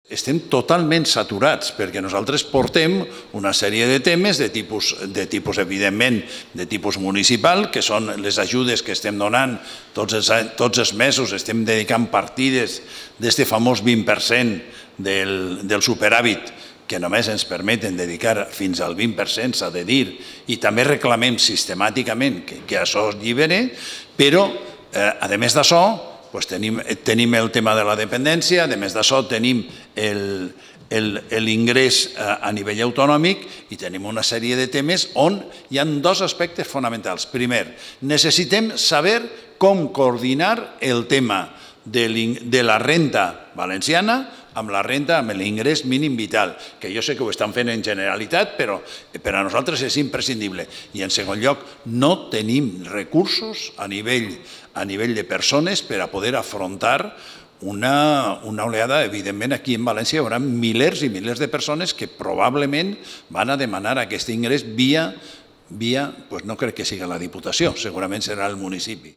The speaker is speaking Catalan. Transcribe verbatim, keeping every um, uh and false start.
Estem totalment saturats perquè nosaltres portem una sèrie de temes de tipus, de tipus evidentment, de tipus municipal, que són les ajudes que estem donant tots els, tots els mesos, estem dedicant partides d'este famós vint per cent del, del superàvit que només ens permeten dedicar fins al vint per cent, s'ha de dir, i també reclamem sistemàticament que, que això es llibere, però, eh, a més d'això, Pues tenim, tenim el tema de la dependència, a més d'això tenim l'ingrés a nivell autonòmic i tenim una sèrie de temes on hi ha dos aspectes fonamentals. Primer, necessitem saber com coordinar el tema de la renta valenciana amb la renta, amb l'ingrés mínim vital, que jo sé que ho estan fent en Generalitat, però per a nosaltres és imprescindible. I en segon lloc, no tenim recursos a nivell, a nivell de persones per a poder afrontar una, una oleada. Evidentment, aquí en València hi haurà milers i milers de persones que probablement van a demanar aquest ingrés via, via, pues no crec que sigui la Diputació, segurament serà el municipi.